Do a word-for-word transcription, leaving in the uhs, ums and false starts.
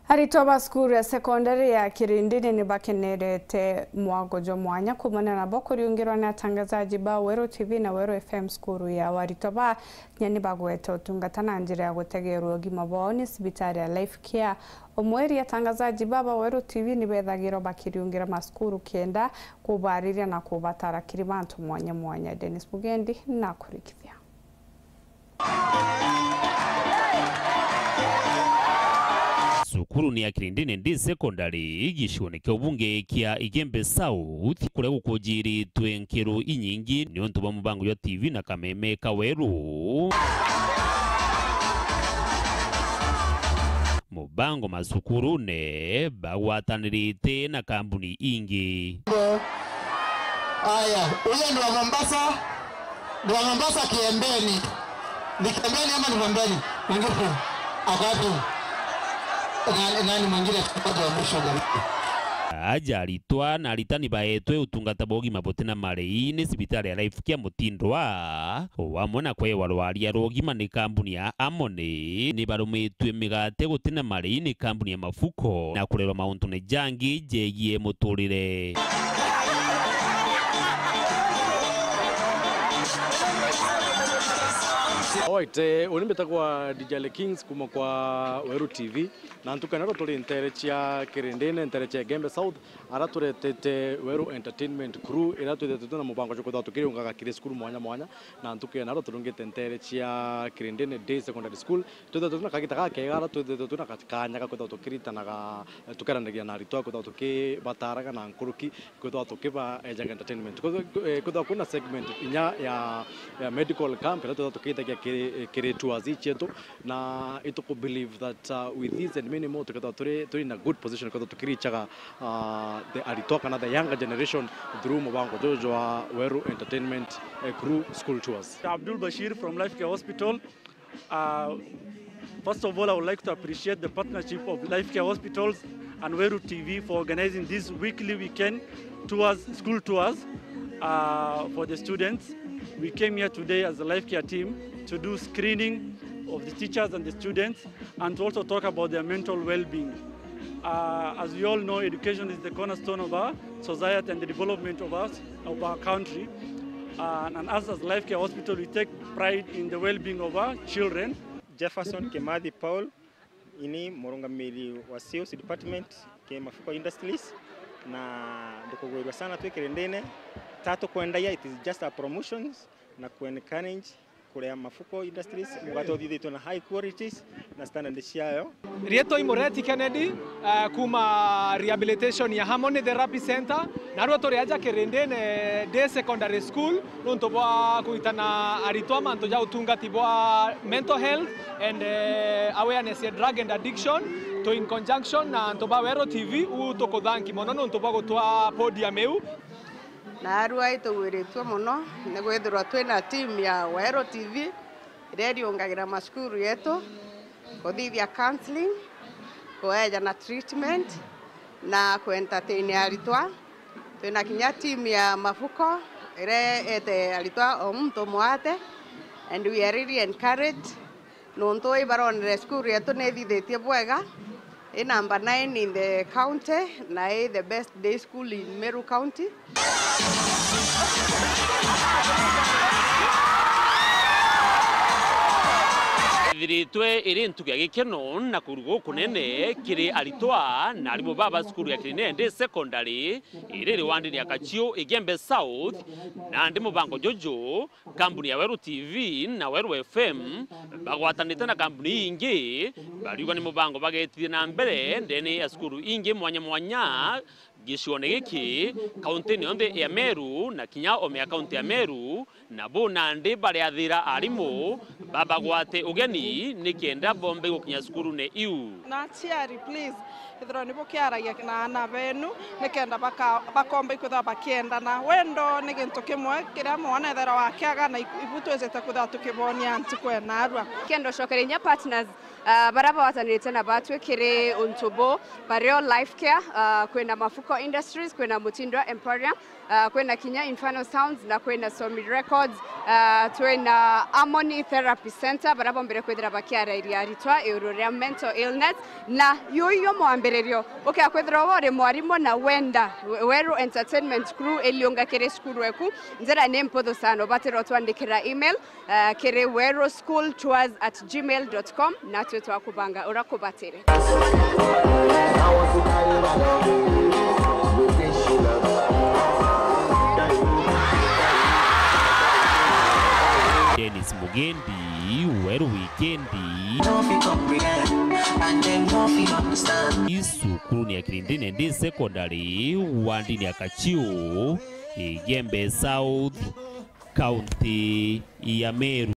Aritwa ba cukuru ya sekondari ya Kirindini ni bakenerete mwango jwa mwanya kuumania nabo kuriungirwa ni atangazaji ba Weru T V na Weru F M cukuru yao. Aritwa ba kinya ni bagwete utungata na njira ya gutegerwa ugima bwao ni cibitari ya Life Care. O mweri, atangazaji ba ba Weru T V ni bethagirwa bakiriungira macukuru kenda kubariria na kubatara kiri bantu mwanya mwanya. Dennis Mugendi na kurikithia. Cukurune ya Kirindini Day Secondary, gicione kia ubunge kia Igembe South, kuria gukujiritwe nkiru inyingi niuntu bwa mubango jwa T V na kameme ka Weru. Mubango macukurune bagwatanirite na kambuni ingi. Aya, huyo ni wa Mombasa. Ni wa Mombasa Kiembeni. Ni Kiembeni ama ni Pembeni? Mwingine. Ako wapi? Nani, nani mwingine? Tuko wa mwisho jamani. Aja aritwa na aritani baetwe utungata bwa ugima butina marei ni cibitari ya Life Care Mutindwa, o amwe na kwewa rwaria rwa ugima ni kambuni ya Amoni, ni barumitue migate gutina marei ni kambuni ya Mafuko na kurerwa mauntune jangi jegie muturire. Alright, eh, uni mbitagwa D J Le Kings kuma kwa Weru T V, na ntuku ya naro turi ntere cia Kirindini, ntere cia Igembe South, ara turetete Weru Entertainment Crew, ira twithitwe na mubango jwa kwithirwa tukiriungaga kiri cukuru mwanya mwanya, na ntuku ya naro turungite ntere cia Kirindini Day Secondary School. Twithitwe twina kagita gakega, ara twithitwe twina ka-, kanya ga kwithirwa tukiritanaga, eh, tukeranagia na aritwa, kwithirwa tukibataraga na nkuruki, kwithirwa tukibaejaga entertainment. Kwithirwa, eh, kwithirwa kwina segment inya ya, ya medical camp, ira twithirwa tukithagia kiri, eh, kiri tours ii cietu, na ituku believe that, uh, with this and many more, tukethirwa turi, turi in a good position, kwithirwa tukirichaga, uh, the aritwa kana the younger generation through mubango juju jwa Weru Entertainment, eh, Crew School Tours. Abdul Bashir from Life Care Hospital. Uh, first of all, I would like to appreciate the partnership of Life Care Hospitals and Weru T V for organizing this weekly weekend tours, school tours, uh, for the students. We came here today as the Life Care team to do screening of the teachers and the students and to also talk about their mental well-being. Uh, as we all know, education is the cornerstone of our society and the development of us, of our country. Uh, and us as Life Care Hospital, we take pride in the well-being of our children. Jefferson Kimathi Paul, ini murungamiri wa sales department ki Mafuko Industries, na ndikugwirua sana twi Kirindini. Ta tukwendagia, it is just a promotions na ku encourage kuria Mafuko Industries, mugate uthithitwe na high qualities na standard ciayo. Rietwa i Mureti Kennedy, eh, kuma rehabilitation ya Harmony Therapy Center, narua turi aja Kirindini Day Secondary School, nuntu bwa kuitana aritwa mantu ja utungati bwa mental health and, eh, awareness ya drug and addiction, to in conjunction na antu ba Weru T V, u tukuthanki mono nuntu bwa gutwa podium iu. Naarua itugwiritue mono ni kwithirwa twina team ya Weru T V iria iriungagira macukuru yetu, kuthithia counselling, kueja na treatment, na ku entertain aritwa. Twina kinya team ya Mafuko iria ete aritwa o muntu mwate, and we are really encouraged. Nontu ibaronere cukuru yetu ni ithithitie bwega, i number nine in the county, na i the best day school in Meru County. Ithiritwe iri ntuku ya gikeno na kuruga gukunene kiri aritwa na arimu baba cukuru ya Kirinene Secondary iri riwandini ya Kachiu, Igembe South, nandi mubango juju kambuni ya Weru T V na Weru F M bagwatanite na kambuni ingi, bariuga ni mubango bagetithia na mbere ndene ya cukuru ingi mwanya mwanya gicione giki, kauntini yonthe ya Meru na kinya o mea kaunti ya Meru, na bu nandi bariathira arimu babagwate ugeni nikenda bombe gukinya cukurune iu. Na aciari, please, ethirwa ni bukiaragia na aana benu, nikenda baka-, bakomba ikwithirwa bakiendana. Wendo ni gintu kimwe kiria mwana ethirwa akiaga, na ibu twizite kwithirwa tukibonia ntuku ya narua. Kenda ucokeria inya partners, ah, baria bagwatanirite na batwi kiri untu bu, bario Life Care, ah, kwina Mafuko Industries, kwina Mutindo Emporium, ah, kwina kinya Infernal Sounds na kwina Somi Records. Ah, twina Harmony Therapy Center, baria bombere kwithira bakiarairia aritwa iguru ria mental illness. Na yuyu mwambiririo, ukia kwithirwa we uri mwarimu na wenda Weru Entertainment Crew iliunga kiri cukuru eku, njira ni mputhu sana, ubatire utwandikira email, ah, kiri weruschooltours at gmail dot com, natwe twakubanga uria kubatire. Dennis Mugendi, Weru Wikendi. Cukuru ni ya Kirindini ndi secondary, wandini ya Kachiu, Igembe South, county ya Meru.